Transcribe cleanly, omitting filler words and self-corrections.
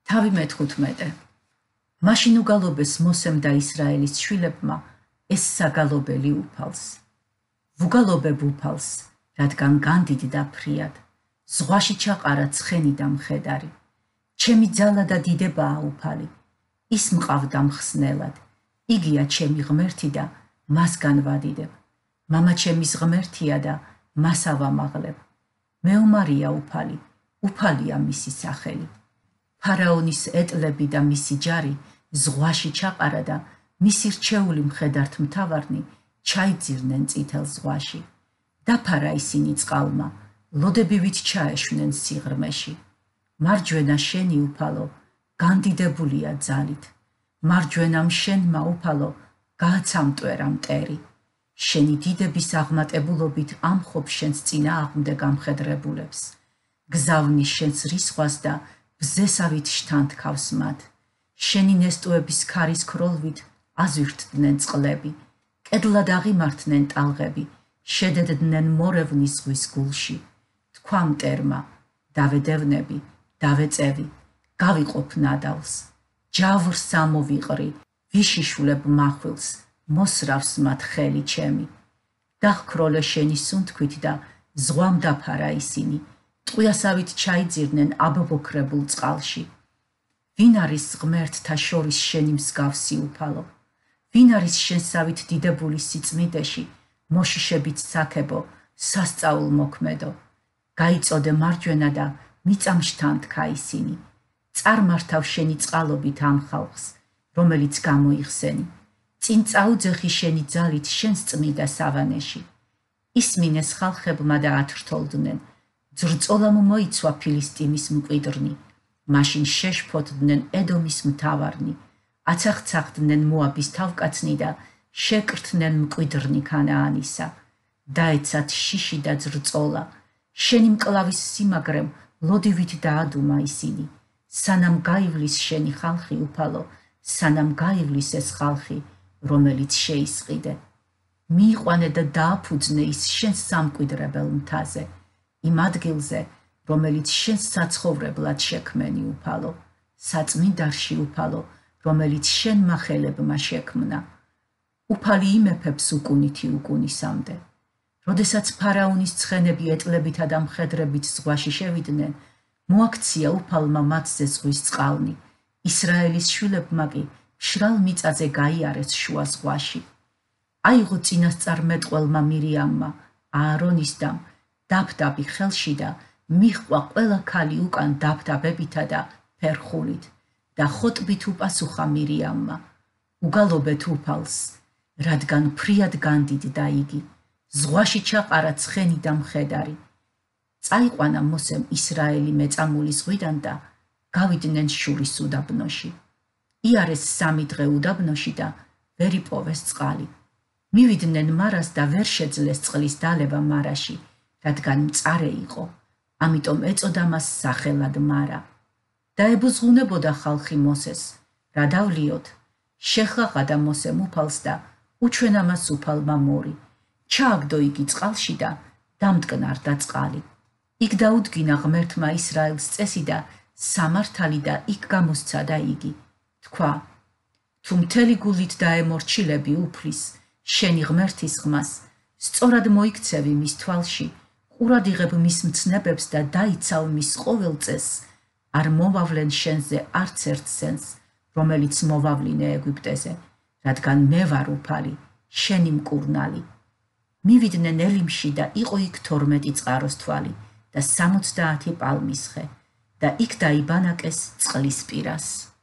თავი მე-15. მაშინ უგალობეს მოსემ და ისრაელის შვილებმა ეს საგალობელი უფალს. ვუგალობებ უფალს, რადგან განდიდ და ფრიად, ზღვაში ჩაყარა ცხენი და მხედარი. ჩემი ძალა და დიდებაა უფალი, ის მყავდა მხსნელად, იგია ჩემი ღმერთი და მასგან ვადიდებ. მამა ჩემის ღმერთია და მას ავამაღლებ. მეომარია უფალი, უფალია მისი სახელი. ფარაონის ეტლები და მისი ჯარი ზღვაში ჩაყარა და მისი რჩეული მხედართმთავარნი ჩაიძირნენ წითელ ზღვაში. დაფარა ისინი წყალმა, ლოდებივით ჩაეშვნენ სიღრმეში. მარჯვენა შენი უფალო, განდიდებულია ძალით. მარჯვენამ შენმა უფალო, გააცამტვერა მტერი. შენი დიდების აღმატებულობით ამხობ შენს წინააღმდეგ ამხედრებულებს. გზავნის შენს რისხვას და ბზესავით შთანთქავს მათ. შენი ნესტოების ქარის ქროლვით აზვირთდნენ წყლები. კედლად აღიმართნენ ტალღები, შედედდნენ მორევნის ზღვის გულში. თქვა მტერმა, დავედევნები, დავეწევი, გავიყოფ ნადავლს. ჯავრს ამოვიყრი, ვიშიშვლებ მახვილს, მოსრავს მათ ხელი ჩემი. დახქროლე შენი სუნთქვით და ზღვამ დაფარა ისინი. ტყვიასავით ჩაიძირნენ აბობოქრებულ წყალში. ვინ არის ღმერთთა შორის შენი მსგავსი უფალო? ვინ არის შენსავით დიდებული სიწმიდეში, მოშიშებით საქებო, სასწაულ მოქმედო? გაიწოდე მარჯვენა და მიწამ შთანთქა ისინი. წარმართავ შენი წყალობით ამ ხალხს, რომელიც გამოიხსენი. წინ წაუძეხი შენი ძალით შენს წმიდა სავანეში. ისმინეს ხალხებმა და ათრთოლდნენ. ძრწოლამ მოიცვა ფილისტიმის მკვიდრნი. მაშინ შეშფოთდნენ ედომის მთავარნი. აცახცახდნენ მოაბის თავკაცნი და შეკრთნენ მკვიდრნი ქანაანისა. დაეცათ შიში და ძრწოლა. შენი მკლავის სიმაგრემ ლოდივით დაადუმა ისინი. სანამ გაივლის შენი ხალხი უფალო, სანამ გაივლის ეს ხალხი, რომელიც შეისყიდე. მიიყვანე და დააფუძნე ის შენს სამკვიდრებელ მთაზე, იმ ადგილზე, რომელიც შენს საცხოვრებლად შექმენი უფალო, საწმინდარში უფალო, რომელიც შენმა ხელებმა შექმნა. უფალი იმეფებს უკუნითი უკუნისამდე. როდესაც ფარაონის ცხენები ეტლებითა და მხედრებით ზღვაში შევიდნენ, მოაქცია უფალმა მათზე ზღვის წყალნი. ისრაელის შვილებმა კი მშრალ მიწაზე გაიარეს შუა ზღვაში. აიღო წინასწარმეტყველმა მირიამმა, აარონის დამ, დაბდაბი ხელში და მიჰყვა ყველა ქალი უკან დაბდაბებითა და ფერხულით და ხოტბით უპასუხა მირიამმა. უგალობეთ უფალს, რადგან ფრიად განდიდდა იგი. ზღვაში ჩაყარა ცხენი და მხედარი. წაიყვანა მოსემ ისრაელი მეწამული ზღვიდან და გავიდნენ შურის უდაბნოში. იარეს 3 დღე უდაბნოში და ვერ იპოვეს წყალი. მივიდნენ მარას და ვერ შეძლეს წყლის დალება მარაში, რადგან მწარე იყო. ამიტომ ეწოდა მას სახელად მარა. დაებუზღუნებოდა ხალხი მოსეს. რა დავლიოთ? შეხაღადა მოსემ უფალს და უჩვენა მას უფალმა მორი. ჩააგდო იგი წყალში და დამტკნარდა წყალი. იქ დაუდგინა ღმერთმა ისრაელს წესი და სამართალი და იქ გამოსცადა იგი. თქვა, თუ მთელი გულით დაემორჩილები უფლის, შენი ღმერთის ხმას, სწორად მოიქცევი მის თვალში, ყურად იღებ მის მცნებებს და დაიცავ მის ყოველ წესს, არ მოვავლენ შენზე არც ერთ სენს, რომელიც მოვავლინე ეგვიპტეზე, რადგან მე ვარ უფალი, შენი მკურნალი. მივიდნენ ელიმში და იყო იქ 12 წყაროს თვალი და 70 პალმის ხე და იქ დაიბანაკეს წყლის პირას.